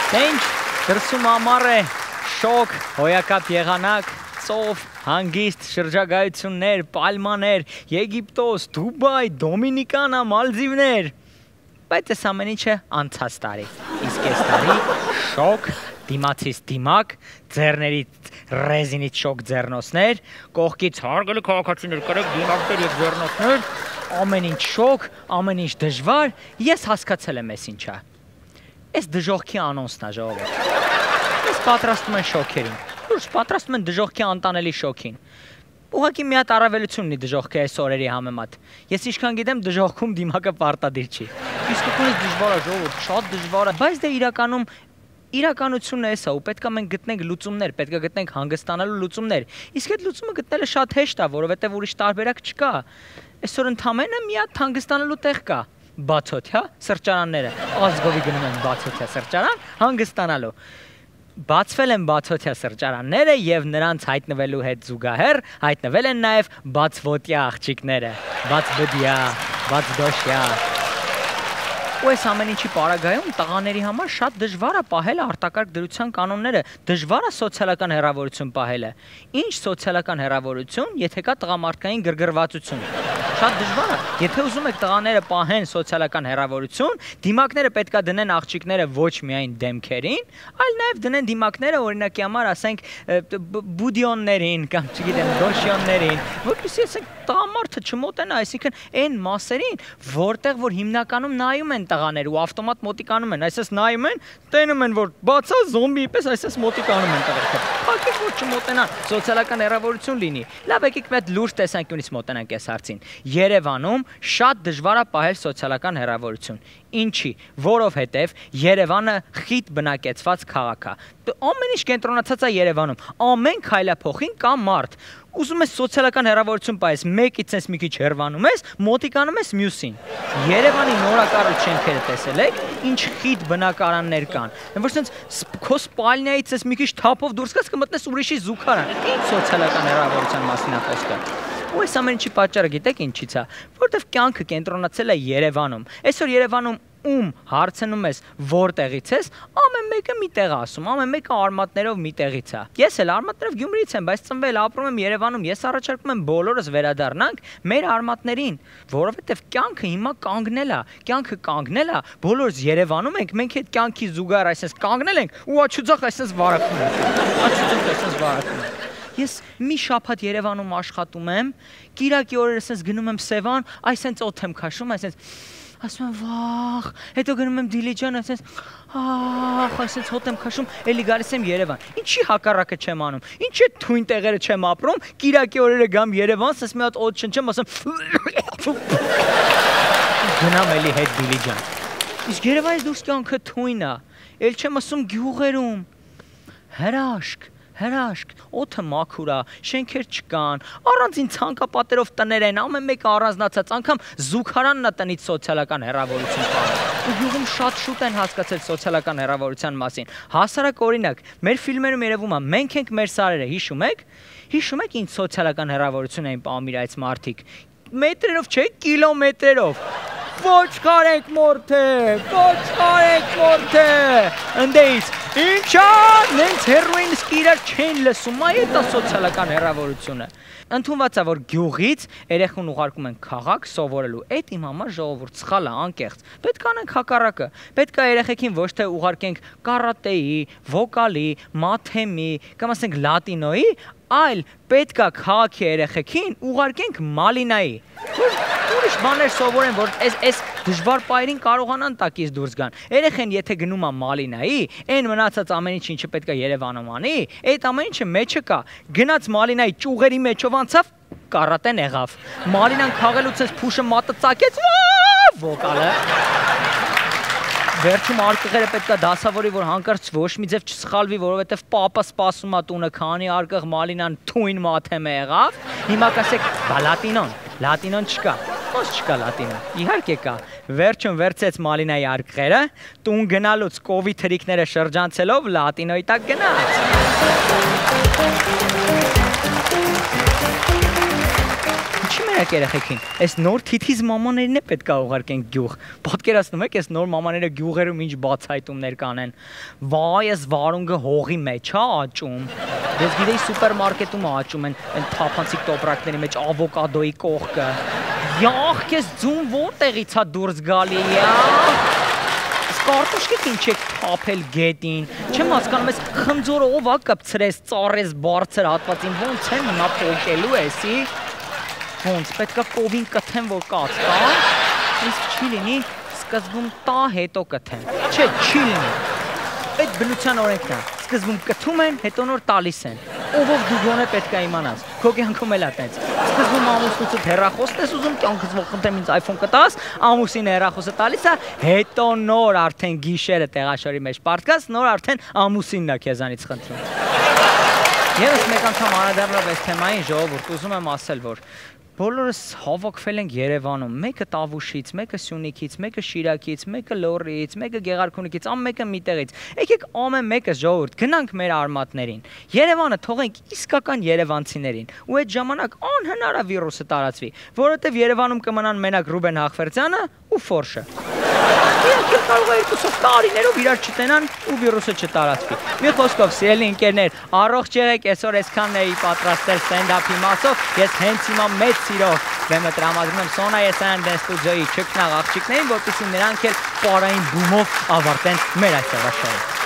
Ինչ դրսում ամառ է, շոկ, հոյակապ եղանակ, ծով, հանգիստ, շրջագայություններ, պալմաներ, Եգիպտոս, Դուբայ, Դոմինիկանա, Մալդիվներ, բայց այս ամեն ինչը անցած տարի, իսկ այս տարի շոկ, դիմացից դիմակ, ձեռներից ռեզինից շոկ ձեռնոցներ, կողքից հարգելի քաղաքացիներ կրեք դիմակներ և ձեռնոցներ, ամեն ինչ շոկ, ամեն ինչ դժվար, ես հասկացել եմ այս ինչա, այս դժողքի անոնցն է ժողովուրդ, ես պատրաստում են շոքերին, լուրջ պատրաստում են դժողքի անտանելի շոքին, ուղղակի մի հատ առավելություն ունի դժողքի այս օրերի համեմատ, ես ինչքան գիտեմ դժողքում դիմակը պարտադիր չի, իսկությունից դժվար է ժողովուրդ, շատ դժվար է, բայց դե իրականությունն է էսա ու պետք է մենք գտնենք լուծումներ, պետք է գտնենք հանգստանալու լուծումներ, իսկ այդ լուծումը գտնելը շատ հեշտ է, որովհետև ուրիշ տարբերակ չկա, այսօր ընդամենը մի հատ հանգստանալու տեղ կա, բացօթյա սրճարանները, ազգովի գնում են բացօթյա սրճարան, հանգստանալու, բացվել են բացօթյա սրճարանները և նրանց հայտնվելու հետ զուգահեռ հայտնվել են նաև բացվոտյա աղջիկները, բացբդյա, բացդոշյա, ու այս ամեն ինչի պարագայում տղաների համար շատ դժվար է պահել արտակարգ դրության կանոնները, դժվար է սոցիալական հեռավորություն պահելը, ինչ սոցիալական հեռավորություն, եթե կա տղամարդկային գրգռվածություն, շատ դժվար է, եթե ուզում եք տղաները պահեն սոցիալական հեռավորություն, դիմակները պետք է դնեն աղջիկները ոչ միայն դեմքերին, այլ նաև դնեն դիմակները օրինակի համար ասենք բուդիոններին կամ չգիտեմ դոշյոններին, որպեսզի ասենք տղամարդը չմոտենա, այսինքն այն մասերին, որտեղ որ հիմնականում նայում են տղաներ ու ավտոմատ մոտիկանում են, այսպես նայում են, տենում են, որ բացա զոմբիի պես այսպես մոտիկանում են տղերքը, փակեք որ չմոտենան, սոցիալական հեռավորություն լինի, լավ եկեք մի հատ լուրջ տեսանկյունից մոտենանք այս հարցին, Երևանում շատ դժվար է պահել սոցիալական հեռավորություն, ինչի, որովհետև Երևանը խիտ բնակեցված քաղաք է, ամեն ինչ կենտրոնացած է Երևանում, ամեն քայլափոխին կա մարդ, ուզում ես սոցիալական հեռավորություն պահես, մեկից ես մի քիչ հեռվանում ես, մոտիկանում ես մյուսին, Երևանի նորակառույց շենքերը տեսել եք, ինչ խիտ բնակարաններ կան, որ սենց քո սպալնիայից ես մի քիչ թափով դուրս գաս կմտնես ուրիշի զուգարան, ինչ սոցիալական հեռավորության մասին է խոսքը, ու այս ամեն ինչի պատճառը գիտեք ինչից է, որովհետև կյանքը կենտրոնացել է Երևանում, այսօր Երևանում ում հարցնում ես որտեղից ես, ամեն մեկը մի տեղ ասում, ամեն մեկը արմատներով մի տեղից է։ Ես էլ արմատներով Գյումրիից եմ, բայց ծնվել ապրում եմ Երևանում, ես առաջարկում եմ բոլորս վերադառնանք մեր արմատներին, որովհետև կյանքը հիմա կանգնել է, կյանքը կանգնել է, բոլորս Երևանում ենք, մենք այդ կյանքի զուգահեռ այսպես կանգնել ենք ու աչուձախ այսպես վարակում ենք։ Աչուձախ այսպես վարակում ենք։ Ես մի շաբաթ Երևանում աշխատում եմ, կիրակի օրերս ես գնում եմ Սևան, այսպես օդ եմ քաշում, այսպես ասում եմ վախ, հետո գնում եմ Դիլիջան, այսպես հոտ եմ քաշում, էլի գալիս եմ Երևան, ինչի հակառակը չեմ անում, ինչի այդ թույն տեղերը չեմ ապրում, կիրակի օրերը գամ Երևան, ասես մի հատ օդ շնչեմ, ասեմ գնամ էլի հետ Դիլիջան, իսկ Երևանից դուրս կյանքը թույն է, էլ չեմ ասում գյուղերում, հրաշք, օդը մաքուր է, շենքեր չկան, առանձին ցանկապատերով տներ են, ամեն մեկը առանձնացած, անգամ զուգարանն է տնից սոցիալական հեռավորություն պահում։ Ու գյուղում շատ շուտ են հասկացել սոցիալական հեռավորության մասին։ Հասարակ օրինակ, մեր ֆիլմերում երևում է, մենք ենք մեր սարերը, հիշում եք ինչ սոցիալական հեռավորություն էին պահում իր այս մարդիկ։ Մետրերով չէ, կիլոմետրերով։ Ոչխար եք մորթե, ընդեից, ինչա, նենց հերոին իսկ իրար չեն լսում, այդ է սոցիալական հեռավորությունը։ Ընդունված է, որ գյուղից երեխուն ուղարկում են քաղաք սովորելու, այդ իմ համար ժողովուրդ սխալ է, անկեղծ, պետք է անենք հակառակը, պետք է երեխեքին ոչ թե ուղարկենք կարատեի, վոկալի, մաթեմի, կամ ասենք լատինոյի, այլ պետք է քաղաքի երեխեքին ուղարկենք մալինայի, ուրիշ բաներ սովորեն, որ այս դժվար պայրին կարողանան տակից դուրս գան, երեխեն եթե գնում է մալինայի, այն մնացած ամեն ինչ ինչը պետք է Երևանում անի, այդ ամեն ինչը մեջը կա, գնաց մալինայի ճյուղերի մեջով անցավ, կարատեն եղավ, մալինան քաղելուց ես փուշը մատը ծակեց, վոկալը, վերջում արկղերը պետք է դասավորի, որ հանկարծ ոչ մի ձև չսխալվի, որովհետև պապը սպասում է տունը, քանի արկղ մալինան թույն մաթեմ է եղավ, հիմա կասեք, բա լատինոն չկա, ոնց չկա լատինոն, իհարկե կա, վերջում վերցեց մալինայի արկղերը, տուն գնալուց կովիդ հրիկները շրջանցելով լատինոյի տակ գնաց։ Ինչի մեր Տենեք երեխեքին, այս նոր թիթիզ մամաներին է պետք է ուղարկենք գյուղ։ Պատկերացնում եք, այս նոր մամաները գյուղերում ինչ բացահայտումներ կանեն։ Վայ, այս վարունգը հողի մեջ է աճում։ Ես գիտեի սուպերմարկետում աճում են այն թափանցիկ տոպրակների մեջ ավոկադոյի կողքը։ Յախ, քեզ ձուն որտեղից է դուրս գալի, Կարտոշկեք ինչ եք թափել գետին, չեմ հասկանում ես խնձորը ով է կպցրես, ծառես բարձր հատվածին, ոնց են նա փոկելու էսի, ոնց, պետք է կովին կթեմ, որ կաց կա, իսկ չի լինի, սկզբում տա, հետո կթեմ, չէ, չի լինի, այդ բնության օրենքն է, սկզբում կթում են, հետո նոր տալիս են, ով դու գոնե պետք է իմանաս, քո կյանքում էլ է տենց, սկզբում ամուսնուցդ հեռախոսն ես ուզում, կյանքս ողքնթեմ ինձ iPhone կտաս, ամուսին հեռախոսը տալիս է, հետո նոր արդեն գիշերը տեղաշորի մեջ պարտկաս, նոր արդեն ամուսինն է քեզանից խնդրում։ Եվս մեկ անգամ անդրադառնալով այս թեմային ժողովուրդ, ուզում եմ ասել, որ բոլորս հավաքվել ենք Երևանում, մեկը Տավուշից, մեկը Սյունիքից, մեկը Շիրակից, մեկը Լոռիից, մեկը Գեղարքունիքից, ամեն մեկը միտեղից։ Եկեք ամեն մեկս ժողովուրդ գնանք մեր արմատներին։ Երևանը թողենք իսկական երևանցիներին։ Ու այդ ժամանակ անհնար է վիրուսը տարածվի, որովհետև Երևանում կմնան մենակ Ռուբեն Հաղվերդյանը ու Ֆորշը։ Իրանք կարող է 2 տարիներով իրար չտենան ու վիրուսը չտարածվի։ Մի խոսքով, սիրելի ընկերներ, առողջ եղեք, այսօր այսքանն էի պատրաստել ստենդափի մասով, ես հենց հիմա մեծ սիրով բեմը տրամադրում եմ Սոնա Եսայան դեն ստուդիոյի չքնաղ աղջիկներին, որպեսզի նրանք էլ պարային բումով ավարտեն մեր այսօրվա շոուը։